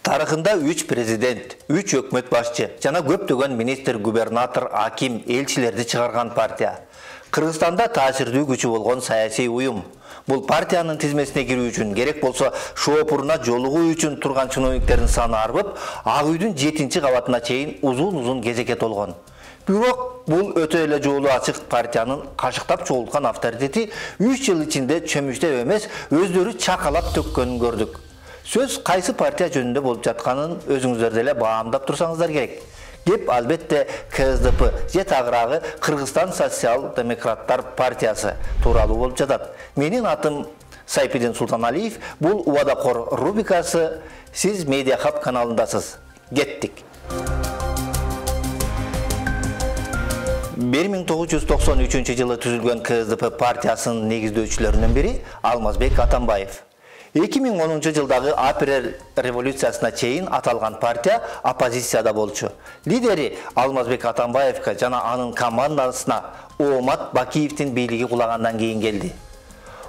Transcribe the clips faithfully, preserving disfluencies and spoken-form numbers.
Тарыхында үч президент, үч өкмөт башчы жана көптөгөн министр, губернатор, аким, элчилерди чыгарган партия. Кыргызстанда таасирдүү күчү болгон саясий уюм. Бул партиянын тизмесине кирүү үчүн керек болсо шоопуруна жолугуу үчүн турган чиновниктердин саны арбып, Ак үйдүн жетинчи кабатына чейин узун-узун кезекке толгон. Бирок бул өтө эле жолу ачык партиянын кашыктап чогулткан авторитети үч жыл ичинде чөмүчтөп эмес, өздөрү чакалап төккөнүн көрдүк. Сөз кайсы партия жөнүндө болуп жатканын өзүңүздөр деле баамдап турсаңыздар керек. Кеп албетте К С Д П же тагыраагы Кыргызстан социал-демократтар партиясы тууралуу болуп жатат. Менин атым Сайпидин Султаналиев, бул Убадакор рубрикасы. Сиз Медиа Хаб каналындасыз. Кеттик. бир миң тогуз жүз токсон үчүнчү жылы түзүлгөн К С Д П партиясынын негиздөөчүлөрүнүн бири Алмазбек Атамбаев. эки миң онунчу жылдагы апрель революциясына чейин аталган партия оппозицияда болчу. Лидери Алмазбек Атамбаевка жана анын командасына Оомат Бакиевдин бийлиги кулагандан кийин келди.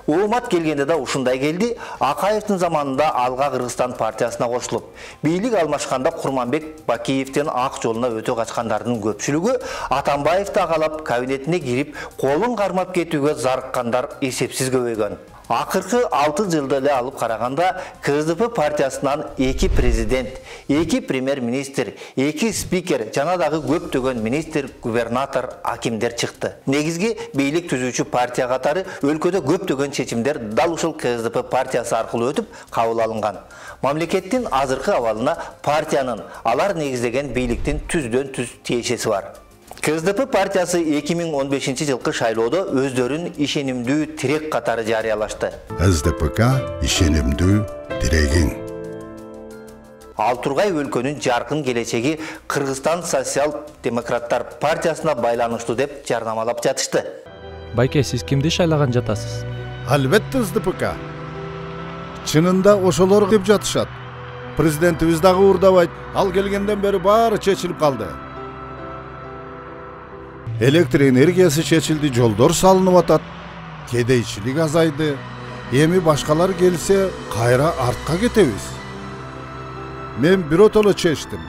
Оомат келгенде да ушундай келди. Акаевдин заманында Алга Кыргызстан партиясына кошулуп, бийлик алмашканда Курманбек Бакиевдин ак жолуна өтө качкандардын көпчүлүгү Атамбаевди агалап кабинетине кирип, колун кармап кетүүгө зарыккандар эсепсиз көбөйгөн. Акыркы алты жылды эле алып караганда К С Д П партиясынан эки президент, эки премьер-министр, эки спикер жана дагы көптөгөн министр, губернатор, акимдер чыкты. Негизги бийлик түзүүчү партия катары өлкөдө көптөгөн чечимдер дал ушул К С Д П партиясы аркылуу өтүп кабыл алынган. Мамлекеттин азыркы абалына партиянын, алар негиздеген бийликтин түздөн түз тиешеси бар. К С Д П партиясы эки миң он бешинчи жылкы шайлоодо өздөрүн ишенимдүү тирек катары жарыялашты. С Д П К ишенимдүү тирегиң. Ал тургай өлкөнүн жаркын келечеги Кыргызстан социал-демократтар партиясына байланыштуу деп жарнамалап жатышты. Байке, сиз кимди шайлаган жатасыз? Албетте С Д П К. Чынында ошолор деп жатышат. Президентибиз дагы уурдабайт. Ал келгенден бери баары чечилип калды. Электр энергиясы чечилди, жолдор салынып атат, кедейчилик азайды. Эми башкалар келсе, кайра артка кетебиз. Мен биротоло чечтим.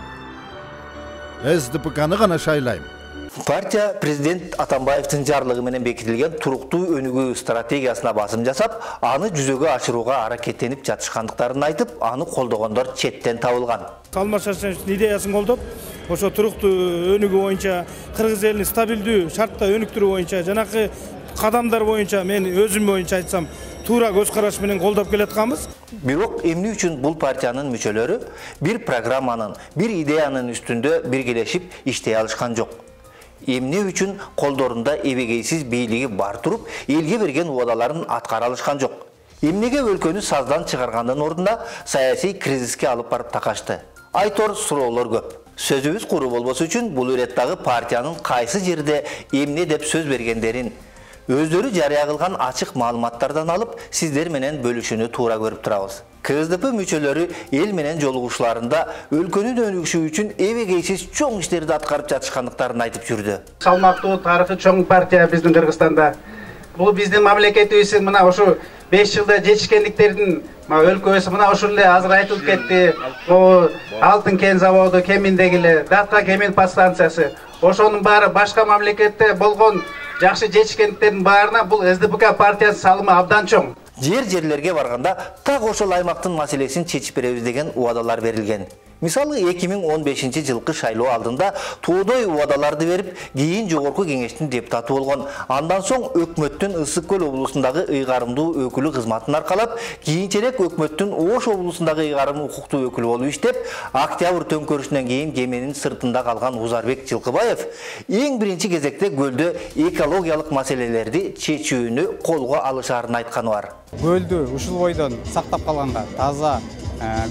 С Д П К'ны гана шайлайм. Партия президент Атамбаевдин жарлыгы менен бекитилген туруктуу өнүгүү стратегиясына басым жасап, аны жүзөгө ашырууга аракеттенип жатышкандыктарын айтып, аны колдогондор четтен табылган. Алмаз Шаршеновичтин идеясын колдоп, ошо туруктуу өнүгүү боюнча, кыргыз элин стабилдүү шартта өнүктүрүү боюнча, жанакы кадамдар боюнча мен өзүм боюнча айтсам, туура көз караш менен колдоп келатканбыз. Бирок эмне үчүн бул партиянын мүчөлөрү бир программанын, бир идеянын үстүндө биргелешип иштей алышкан жок? Эмне үчүн колдорунда эбегейсиз бийлиги бар туруп, элге берген убадаларын аткара алышкан жок? Эмнеге өлкөнү саздан чыгаргандын ордуна саясий кризиске алып барып такашты? Айтор суроолор көп. Сөзүбүз куру болбосу үчүн бул иреттагы партиянын кайсы жерде эмне деп сөз бергендерин өздөрү жарыя кылган ачык маалыматтардан алып, сиздер менен бөлүшүүнү туура көрүп турабыз. К С Д П мүчөлөрү эл менен жолугушууларында өлкөнүн өнүгүшү үчүн эбегейсиз чоң иштерди аткарып жатышкандыктарын айтып жүрдү. Салмактуу тарыхы чоң партия биздин Кыргызстанда. Бул биздин мамлекетибиздин мына ушу беш жылда жетишкендиктердин өлкөбүз мына ушул эле азыр айтылып кетти. Алтын кен заводу Кеминдеги, Датка кемин подстанциясы. Ошонун баары башка мамлекетте болгон жакшы жетишкендиктердин баарына бул С Д П К партиясынын салымы абдан чоң. Жер-жерлерге барганда так ошол аймактын маселесин чечип беребиз деген убадалар берилген. Мисалы эки миң он бешинчи жылкы шайлоо алдында тоодой убадаларды берип, кийин жогорку кеңештин депутаты болгон. Андан соң өкмөттүн Ысык Көл облусундагы ыйгарымдуу өкүлү кызматын аркалап, кийинчерээк өкмөттүн Ош облусундагы ыйгарым укуктуу өкүлү болуп иштеп, октябрь төңкөрүшүнөн кийин кеменин сыртында калган Узарбек Жылкыбаев эң биринчи кезекте көлдө экологиялык маселелерди чечүүнү колго алышаарын айтканы бар. Көлдү ушул бойдон сактап калганга, таза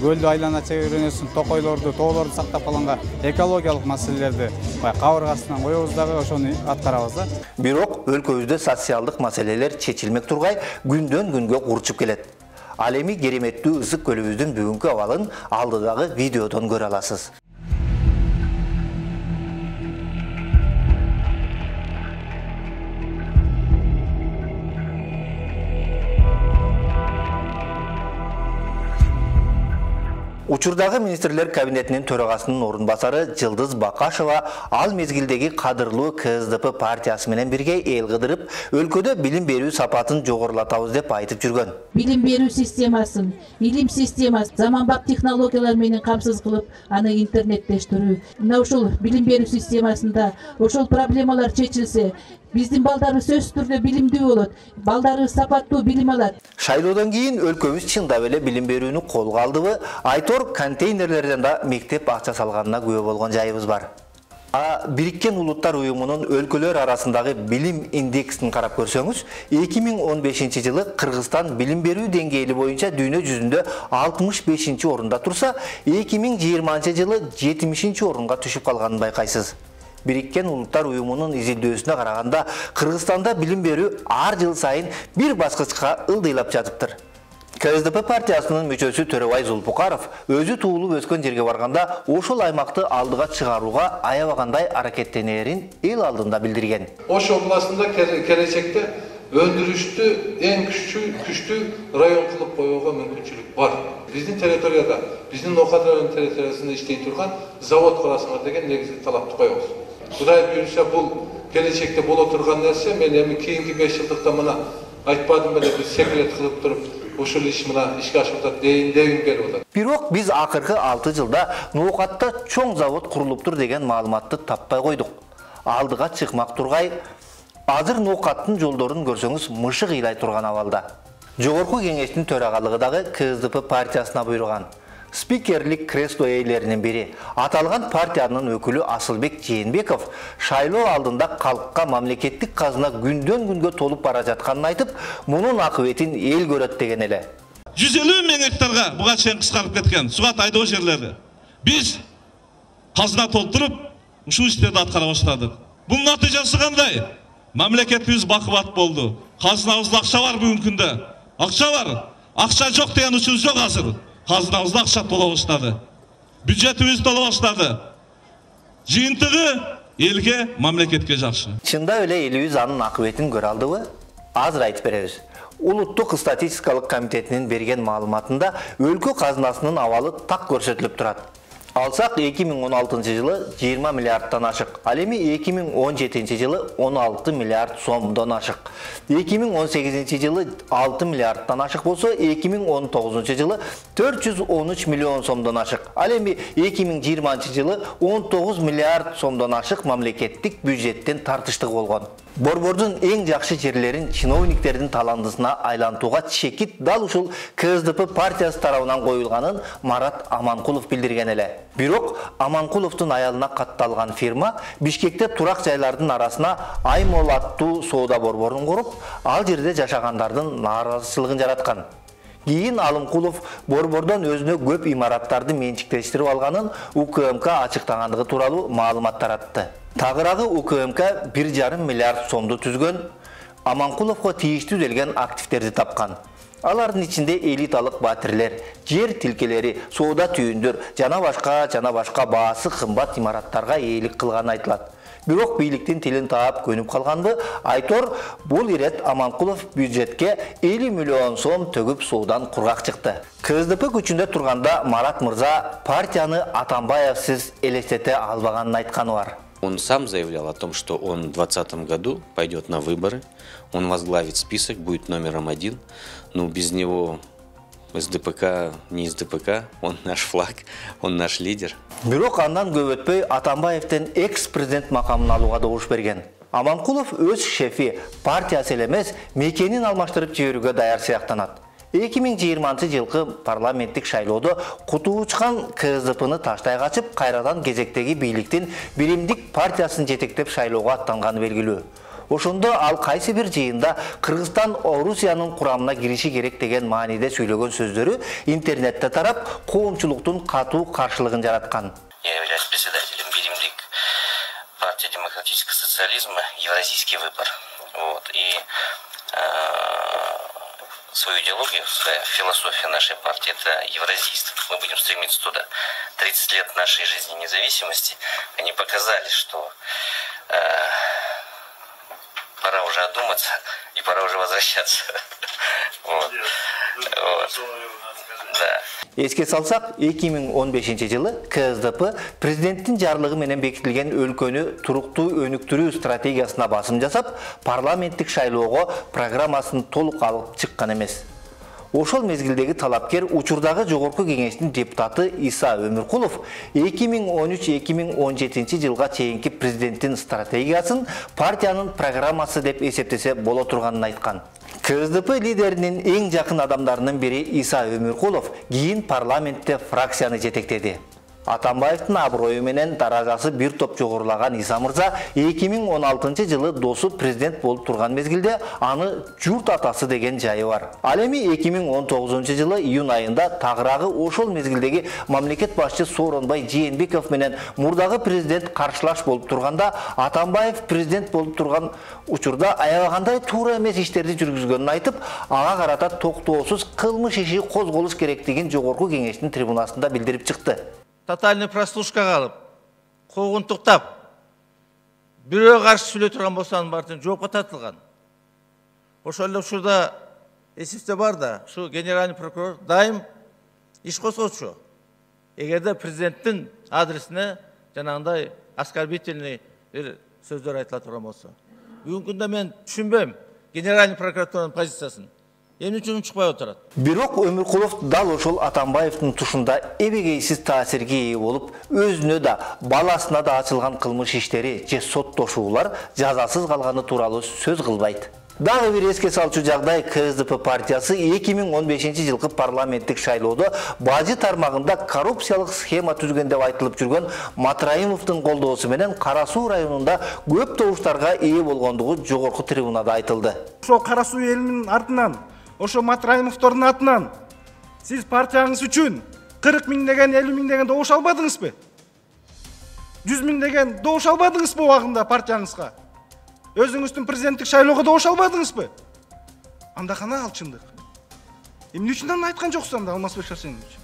көлдү айлана чегерүүсүн, токойлорду, тоолорду сактап калганга экологиялык маселелерди кабыргасынан коебуз дагы ошону аткарабыз да. Бирок өлкөбүздө социалдык маселелер чечилмек тургай күндөн күнгө курчуп келет. Ал эми кереметтүү Ысык көлүбүздүн бүгүнкү абалын алдыдагы видеодон көрө аласыз. Учурдагы министрлер кабинетинин төрагасынын орун басары Жылдыз Бакашева ал мезгилдеги кадырлуу КСДП партиясы менен бирге эл кыдырып, өлкөдө билим берүү сапатын жогорулатабыз деп айтып жүргөн. Билим берүү системасын, илим системасын заманбап технологиялар менен камсыз кылып, аны интернеттештирүү. Мына ушул билим берүү системасында ошол проблемалар чечилсе, биздин балдарыбыз сөзсүз түрдө билимдүү болот, балдарыбыз сапаттуу билим алат. Шайлоодон кийин өлкөбүз чындап эле билим берүүнү колго алдыбы? Айтор контейнерлерден да мектеп акча салганына күбө болгон жайыбыз бар. А Бириккен Улуттар уюмунун өлкөлөр арасындагы билим индексин карап көрсөңүз, эки миң он бешинчи жылы Кыргызстан билим берүү деңгээли боюнча дүйнө жүзүндө алтымыш бешинчи орунда турса, эки миң жыйырманчы жылы жетимишинчи орунга түшүп калганын байкайсыз. Бириккен Улуттар уюмунун изилдөөсүнө караганда, Кыргызстанда билим берүү ар жыл сайын бир баскычка ылдыйлап жатыптыр. КСДП партиясынын мүчөсү Төрөбай Зулпукаров өзү туулуп өскөн жерге барганда ошол аймакты алдыга чыгарууга аябагандай аракеттенерин эл алдында билдирген. Ош областында келечекте өндүрүштү эң күчтүү күчтүү район кылып коюуга мүмкүнчүлүк бар. Биздин территорияда, биздин Ноокат районунун территориясында иштей турган завод курасыңар деген негизги талапты коебуз. Кудай буйруса бул келечекте боло турган нерсе, мен эми кийинки беш жылдыкта мына айтпадым беле, биз секрет кылып туруп ушул иш мына ишке ашып атат дейин дегим келип атат. Бирок биз акыркы алты жылда Ноокатта чоң завод курулуптур деген маалыматты таппай койдук. Алдыга чыкмак тургай, азыр Ноокаттын жолдорун көрсөңүз мышык ыйлай турган абалда. Жогорку кеңештин төрагалыгы дагы КСДП партиясына буйруган. Спикерлик кресло ээлеринин бири, аталган партиянын өкүлү Асылбек Жээнбеков шайлоо алдында калкка мамлекеттик казына күндөн күнгө толуп бара жатканын айтып, мунун акыбетин эл көрөт деген эле. жүз элүү миң гектарга буга чейин кыскарып кеткен сугат айдоо жерлери. Биз казына толтуруп, ушул иштерди аткара баштадык. Бунун натыйжасы кандай? Мамлекетибиз бакубат болду. Казынабызда акча бар бүгүнкү күндө. Акча бар. Акча жок деген учур жок азыр. Казынабызда акча тола баштады. Бюджетибиз тола баштады. Жыйынтыгы элге, мамлекетке жакшы. Чындап эле элибиз анын акыбетин көрө алдыбы? Азыр айтып беребиз. Улуттук статистикалык комитетинин берген маалыматында өлкө казынасынын абалы так көрсөтүлүп турат. Алсак эки миң он алтынчы жылы жыйырма миллиардтан ашык. Ал эми эки миң он жетинчи жылы он алты миллиард сомдон ашык. эки миң он сегизинчи жылы алты миллиардтан ашык болсо, эки миң он тогузунчу жылы төрт жүз он үч миллион сомдон ашык. Ал эми эки миң жыйырманчы жылы он тогуз миллиард сомдон ашык мамлекеттик бюджеттен тартыштык болгон. Борбордун эң жакшы жерлерин чиновниктердин таландысына айлантууга чекит дал ушул КСДП партиясы тарабынан коюлганын Марат Аманкулов билдирген эле. Бирок Аманкуловдун аялына катталган фирма Бишкекте турак жайлардын арасына Аймол аттуу соода борборун куруп, ал жерде жашагандардын нааразычылыгын жараткан. Кийин Алымкулов борбордон өзүнө көп имараттарды менчиктештирип алганын УКМК ачыктагандыгы тууралуу маалымат таратты. Тагыраагы УКМК бир жарым миллиард сомду түзгөн, Аманкуловго тийиштүү делген активтерди тапкан. Алардын ичинде элиталык батирлер, жер тилкелери, соода түйүндөр жана башка жана башка баасы кымбат имараттарга ээлик кылганы айтылат. Бирок бийликтин тилин таап көнүп калганбы? Айтор, бул ирет Аманкулов бюджетке элүү миллион сом төгүп суудан кургак чыкты. КСДП күчүндө турганда Марат мырза партияны Атамбаевсиз элестете албаганын айтканы бар. Он сам заявлял о том, что он в двадцатом году пойдет на выборы, он возглавит список, будет номером один. Но без него СДПК не СДПК, он наш флаг, он наш лидер. Бирок андан көп өтпөй Атамбаевден экс-президент макамын алууга добуш берген. Аманкулов өз шефи партиясы эле эмес, мекенин алмаштырып жиберүүгө даяр сыяктанат. эки миң жыйырманчы жылкы парламенттик шайлоодо куту учкан КСДПны таштай качып, кайрадан кезектеги бийликтин биримдик партиясын жетектеп шайлоого аттанганы белгилүү. Ошондо ал кайсы бир жыйында Кыргызстан Орусиянын курамына кириши керек деген мааниде сүйлөгөн сөздөрү интернетте тарап, коомчулуктун катуу каршылыгын жараткан. Я являюсь председателем биримдик партии демократического социализма Евразийский выбор. Вот. И свою идеологию, своя философия нашей партии – это евразийство. Мы будем стремиться туда. тридцать лет нашей жизни независимости, они показали, что э, пора уже одуматься и пора уже возвращаться. Вот. Вот. Да. Эске салсак, эки миң он бешинчи жылы КСДП президенттин жарлыгы менен бекитилген өлкөнү туруктуу өнүктүрүү стратегиясына басым жасап, парламенттик шайлоого программасын толук алып чыккан эмес. Ошол мезгилдеги талапкер учурдагы жогорку кеңештин депутаты Иса Өмүркулов эки миң он үч эки миң он жетинчи жылга чейинки президенттин стратегиясын партиянын программасы деп эсептесе боло турганын айткан. КСДП лидеринин эң жакын адамдарынын бири Иса Өмүркулов кийин парламентте фракцияны жетектеди. Атамбаевдин аброю менен даражасы бир топ жогорулаган Иса мырза эки миң он алтынчы жылы досу президент болуп турган мезгилде аны журт атасы деген жайы бар. Ал эми эки миң он тогузунчу жылы июнь айында тагыраагы ошол мезгилдеги мамлекет башчы Сооронбай Жээнбеков менен мурдагы президент каршылаш болуп турганда Атамбаев президент болуп турган учурда аябагандай туура эмес иштерди жүргүзгөнүн айтып, ага карата токтоосуз кылмыш иши козголуш керектигин жогорку кеңештин трибунасында билдирип чыкты. Тотальный прослушкага алып, куугунтуктап, бирөөгө каршы сүйлөй турган болсо анын баардыгы жоопко тартылган. Ошол эле учурда эсибизде бар да, ушу генеральный прокурор дайым иш козгочу. Эгерде президенттин адресине жанагындай оскорбительный бир сөздөр айтыла турган болсо. Бүгүнкү күндө мен түшүнбөйм генеральный прокуратуранын позициясын. Эмне үчүн чыкпай отурат? Бирок Өмүркулов дал ошол Атамбаевдин тушунда эбегейсиз таасирге ээ болуп, өзүнө да, баласына да ачылган кылмыш иштери же соттошуулар жазасыз калганы тууралуу сөз кылбайт. Дагы бир эске салчу жагдай, КСДП партиясы эки миң он бешинчи жылкы парламенттик шайлоодо бажы тармагында коррупциялык схема түзгөн деп айтылып жүргөн Матраимовдун колдоосу менен Кара Суу районунда көп добуштарга ээ болгондугу жогорку трибунада айтылды. Ошол Кара Суу элинин артынан, ошо Матраимовдордун атынан сиз партияңыз үчүн кырк миң деген, элүү миң деген добуш албадыңызбы? жүз миң деген добуш албадыңызбы убагында партияңызга? Өзүңүздүн президенттик шайлоого добуш албадыңызбы? Анда кана ал чындык? Эмне үчүн аны айткан жоксуз анда Алмазбек Шарсенович?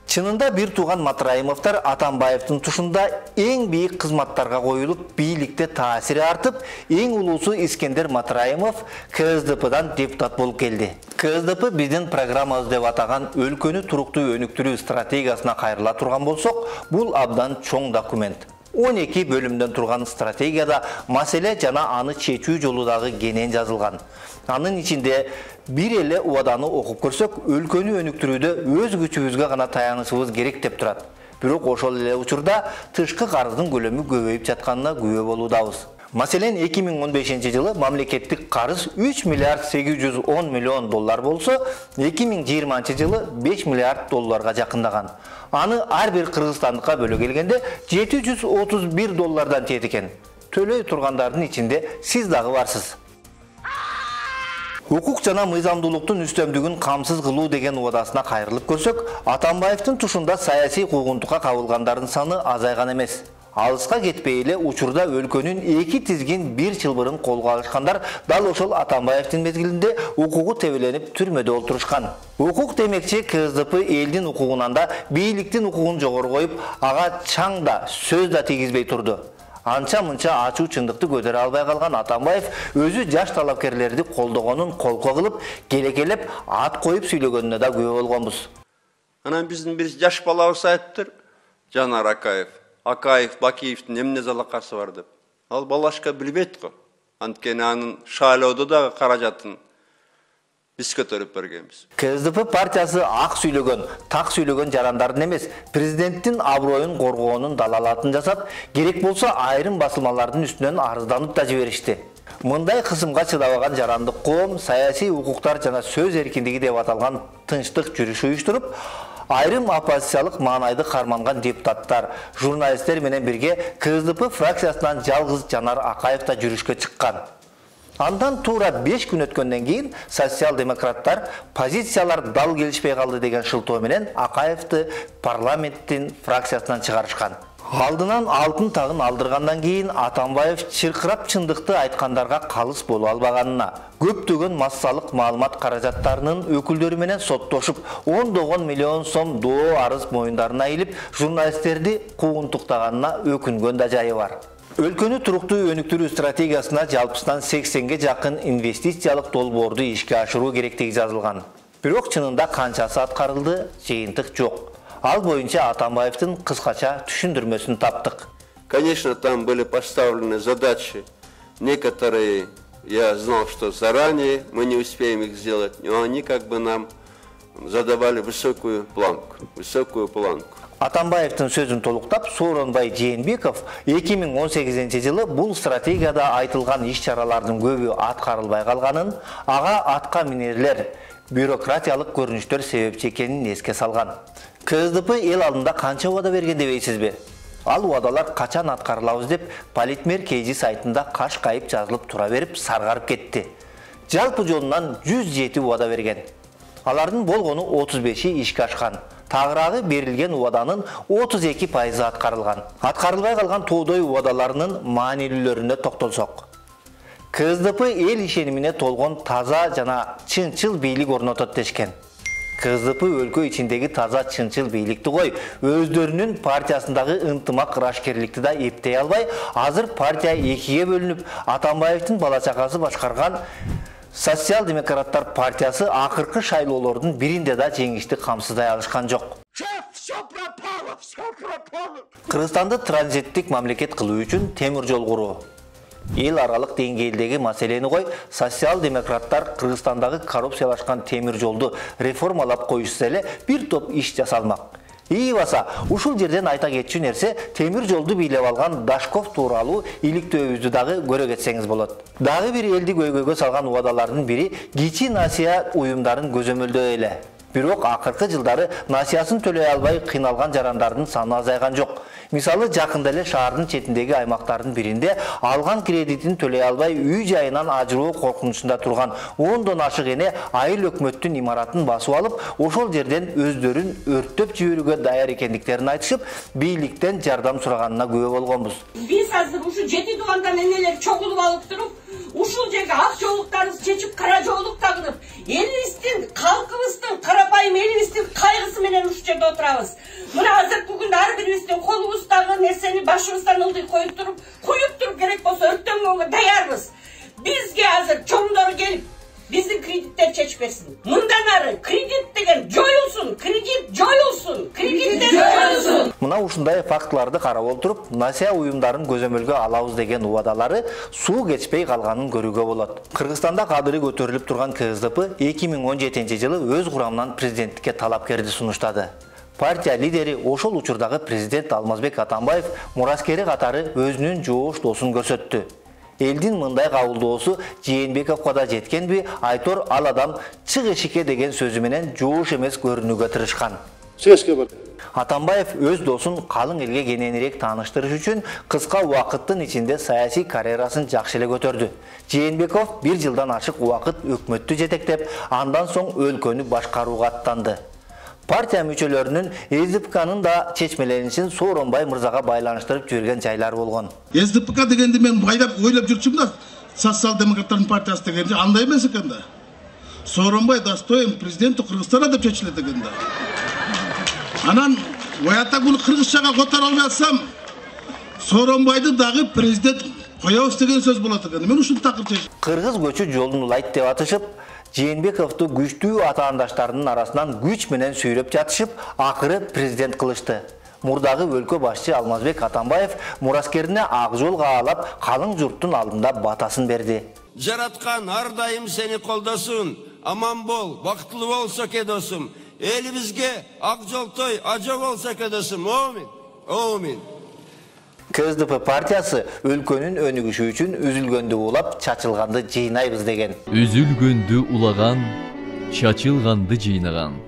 Чынында бир тууган Матраимовдор Атамбаевдин тушунда эң бийик кызматтарга коюлуп, бийликте таасири артып, эң улуусу Искендер Матраимов КСДПдан депутат болуп келди. КСДП биздин программабыз деп атаган өлкөнү туруктуу өнүктүрүү стратегиясына кайрыла турган болсок, бул абдан чоң документ. он эки бөлүмдөн турган стратегияда маселе жана аны чечүү жолу дагы кенен жазылган. Анын ичинде бир эле убаданы окуп көрсөк, өлкөнү өнүктүрүүдө өз күчүбүзгө гана таянышыбыз керек деп турат. Бирок ошол эле учурда тышкы карыздын көлөмү көбөйүп жатканына күбө болуудабыз. Маселен, эки миң он бешинчи жылы мамлекеттик карыз үч миллиард сегиз жүз он миллион доллар болсо, эки миң жыйырманчы жылы беш миллиард долларга жакындаган. Аны ар бир кыргызстандыкка бөлө келгенде жети жүз отуз бир доллардан тиет экен. Төлөй тургандардын ичинде сиз дагы барсыз. Укук жана мыйзамдуулуктун үстөмдүгүн камсыз кылуу деген убадасына кайрылып көрсөк, Атамбаевдин тушунда саясий куугунтукка кабылгандардын саны азайган эмес. Алыска кетпей эле учурда өлкөнүн эки тизгин бир чылбырын колго алышкандар дал ошол Атамбаевдин мезгилинде укугу тебеленип түрмөдө олтурушкан. Укук демекчи КСДП элдин укугунан да, бийликтин укугун жогору коюп, ага чаң да, сөз да тийгизбей турду. Анча-мынча ачуу чындыкты көтөрө албай калган Атамбаев өзү жаш талапкерлерди колдогонун колко кылып, келекелеп, ат коюп сүйлөгөнүнө да күбө болгонбуз. Анан биздин бир жаш балабыз айтыптыр, Жанар Акаев. Акаев, Бакиевдин эмне залакасы бар деп. Ал балашка билбейт го. Анткени анын шайлоодо дагы каражатын биз көтөрүп бергенбиз. КСДП партиясы ак сүйлөгөн, так сүйлөгөн жарандардын эмес, президенттин аброюн коргоонун далалатын жасап, керек болсо айрым басылмалардын үстүнөн арызданып да жиберишти. Мындай кысымга чыдабаган жарандык коом саясий укуктар жана сөз эркиндиги деп аталган тынчтык жүрүш уюштуруп, айрым оппозициялык маанайды карманган депутаттар, журналисттер менен бирге КСДП фракциясынан жалгыз Жанар Акаев да жүрүшкө чыккан. Андан туура беш күн өткөндөн кийин социал-демократтар позициялар дал келишпей калды деген шылтоо менен Акаевди парламенттин фракциясынан чыгарышкан. Алдынан алтын тагын алдыргандан кийин Атамбаев чыркырап чындыкты айткандарга калыс боло албаганына, көптөгөн массалык маалымат каражаттарынын өкүлдөрү менен соттошуп, ондогон миллион сом доо арыз моюндарына илип, журналисттерди куугунтуктаганына өкүнгөн да жайы бар. Өлкөнү туруктуу өнүктүрүү стратегиясына жалпысынан сексенге жакын инвестициялык долбоорду ишке ашыруу керектиги жазылган. Бирок чынында канчасы аткарылды, жыйынтык жок. Ал боюнча Атамбаевдин кыскача түшүндүрмөсүн таптык. Конечно, там были поставлены задачи. Некоторые я знал, что заранее мы не успеем их сделать, но они как бы нам задавали высокую планку, высокую планку. Атамбаевдин сөзүн толуктап, Сооронбай Жээнбеков эки миң он сегизинчи жылы бул стратегияда айтылган иш-чаралардын көбү аткарылбай калганын, ага атка минерлер, бюрократиялык көрүнүштөр себепчи экенин эске салган. КСДП эл алдында канча убада берген дебейсизби? Ал убадалар качан аткарылабыз деп Политмер Кейжи сайтында каш кайып жазылып тура берип саргарып кетти. Жалпы жолунан жүз жети убада берген. Алардын болгону отуз беши ишке ашкан. Тагыраагы берилген убаданын отуз эки пайызы аткарылган. Аткарылбай калган тоодой убадаларынын маанилүүлөрүнө токтолсок. КСДП эл ишенимине толгон таза жана чынчыл бийлик орнотот дешкен. КСДП өлкө ичиндеги таза чынчыл бийликти кой, өздөрүнүн партиясындагы ынтымак ырашкерликти да эптей албай, азыр партия экиге бөлүнүп, Атамбаевдин бала чакасы башкарган Социал-демократтар партиясы акыркы шайлоолордун биринде да жеңишти камсыздай алышкан жок. Кыргызстанды транзиттик мамлекет кылуу үчүн темир жол куруу. Эл аралык деңгээлдеги маселени кой, социал-демократтар Кыргызстандагы коррупциялашкан темир жолду реформалап коюшса эле бир топ иш жасалмак. Ийбаса, ушул жерден айта кетчү нерсе, темир жолду бийлеп алган Дашков тууралуу иликтөөбүздү дагы көрө кетсеңиз болот. Дагы бир элди көйгөйгө салган убадалардын бири кичи насыя уюмдарын көзөмөлдөө эле. Бирок акыркы жылдары насыясын төлөй албай кыйналган жарандардын саны азайган жок. Мисалы, жакында эле шаардын четиндеги аймактардын биринде алган кредитин төлөй албай үй жайынан ажыроо коркунучунда турган ондон ашык эне айыл өкмөттүн имаратын басып алып, ошол жерден өздөрүн өрттөп жиберүүгө даяр экендиктерин айтышып, бийликтен жардам сураганына күбө болгонбуз. Биз азыр ушу жети туугандан энелер чогулуп алып туруп, ушул жерге ак жоолуктарыбызды чечип, кара жоолук тагынып, элибиздин, калкыбыздын, карапайым элибиздин кайгысы менен ушул жерде отурабыз. Мына азыр бүгүн ар бирибиздин колубуздагы нерсени башыбыздан ылдый коюп туруп, куюп туруп керек болсо өрттөнгөнгө даярбыз. Бизге азыр чоңдору келип, биздин кредиттер чечип берсин. Мындан ары кредит деген жоюлсун, кредит жоюлсун, кредиттер жоюлсун. Мына ушундай фактыларды карап отуруп, насыя уюмдарын көзөмөлгө алабыз деген убадалары суу кечпей калганын көрүүгө болот. Кыргызстанда кадыры көтөрүлүп турган КСДП эки миң он жетинчи жылы өз курамынан президенттикке талапкерди сунуштады. Партия лидери ошол учурдагы президент Алмазбек Атамбаев мураскери катары өзүнүн жоош досун көрсөттү. Элдин мындай кабылдоосу Жээнбековго да жеткенби, Айтор ал адам чык эшикке деген сөзү менен жоош эмес көрүнүүгө тырышкан. Атамбаев өз досун калың элге кененирээк тааныштырыш үчүн кыска убакыттын ичинде саясий карьерасын жакшы эле көтөрдү. Жээнбеков бир жылдан ашык убакыт өкмөттү жетектеп, андан соң өлкөнү башкарууга аттанды. Партия мүчөлөрүнүн СДПКнын да чечмеленишин Сооронбай мырзага байланыштырып жүргөн жайлар болгон. СДПК дегенди мен байлап ойлоп жүрчүмүн да, социал-демократтардын партиясы дегенде андай эмес экен да. Сооронбай достоин президенти Кыргызстана деп чечилет экен да. Анан оята буну кыргызчага которо албай атсам, Сооронбайды дагы президент коебуз деген сөз болот экен. Мен ушул такыр чечтим. Кыргыз көчү жолун улайт деп атышып, Жээнбековду күчтүү атаандаштарынын арасынан күч менен сүйрөп жатышып, акыры президент кылышты. Мурдагы өлкө башчы Алмазбек Атамбаев мураскерине ак жол каалап, калың журттун алдында батасын берди. Жараткан ар дайым сени колдосун, аман бол, бактылуу болсо досум. Элибизге ак жолтой ажо болсо досум. Амин. Амин. КСДП партиясы өлкөнүн өнүгүшү үчүн үзүлгөндү улап, чачылганды жыйнайбыз деген. Үзүлгөндү улаган, чачылганды жыйнаган.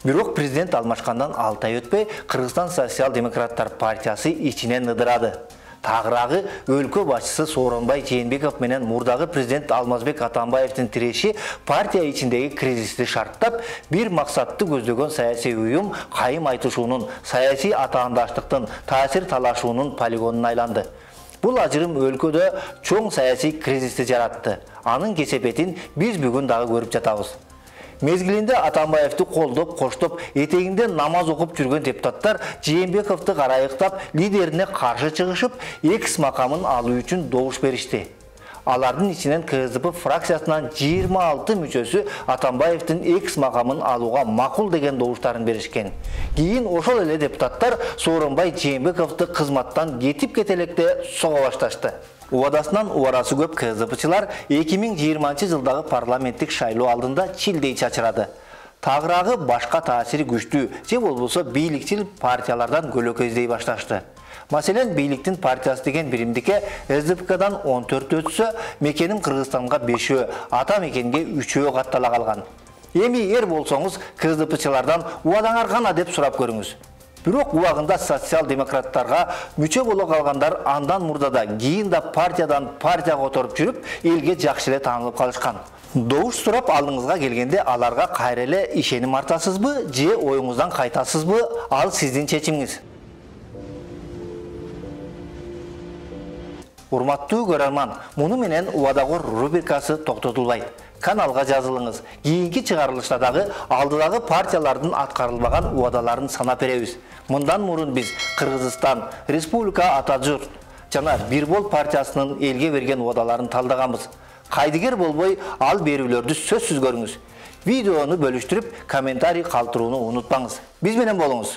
Бирок президент алмашкандан алты ай өтпөй, Кыргызстан социал-демократтар партиясы ичинен ыдырады. Тагыраагы өлкө башчысы Сооронбай Жээнбеков менен мурдагы президент Алмазбек Атамбаевдин тиреши партия ичиндеги кризисти шарттап, бир максатты көздөгөн саясий уюм кайым айтышуунун, саясий атаандаштыктын, таасир талашуунун полигонуна айланды. Бул ажырым өлкөдө чоң саясий кризисти жаратты. Анын кесепетин биз бүгүн дагы көрүп жатабыз. Мезгилинде Атамбаевди колдоп, коштоп, этегинде намаз окуп жүргөн депутаттар Жээнбековду карайыктап, лидерине каршы чыгышып, экс макамын алуу үчүн добуш беришти. Алардын ичинен КСДП фракциясынан жыйырма алты мүчөсү Атамбаевдин экс макамын алууга макул деген добуштарын беришкен. Кийин ошол эле депутаттар Сооронбай Жээнбековду кызматтан кетип кетелекте сого башташты. Убадасынан убарасы көп КСДПчылар эки миң жыйырманчы жылдагы парламенттик шайлоо алдында чилдей чачырады. Тагыраагы башка таасири күчтүү же болбосо бийликчил партиялардан көлөкөздөй башташты. Маселен, бийликтин партиясы деген биримдикке СДПКдан он төрт өтсө, мекеним Кыргызстанга бешөө, ата мекенге үчөө каттала калган. Эми эр болсоңуз КСДПчылардан убадаңар кана деп сурап көрүңүз. Бирок убагында социал-демократтарга мүчө боло калгандар андан мурда да, кийин да партиядан партияга которуп жүрүп, элге жакшы эле таанылып калышкан. Добуш сурап алдыңызга келгенде аларга кайра эле ишеним артасызбы же оюңуздан кайтасызбы? Ал сиздин чечимиңиз. Урматтуу көрөрман, муну менен Убадагор рубрикасы токтотулбайт. Каналга жазылыңыз. Кийинки чыгарылышта дагы алдыдагы партиялардын аткарылбаган убадаларын санап беребиз. Мындан мурун биз Кыргызстан, Республика Ата журт жана Бир бол партиясынын элге берген убадаларын талдаганбыз. Кайдыгер болбой, ал берүүлөрдү сөзсүз көрүңүз. Видеону бөлүштүрүп, комментарий калтырууну унутпаңыз. Биз менен болуңуз.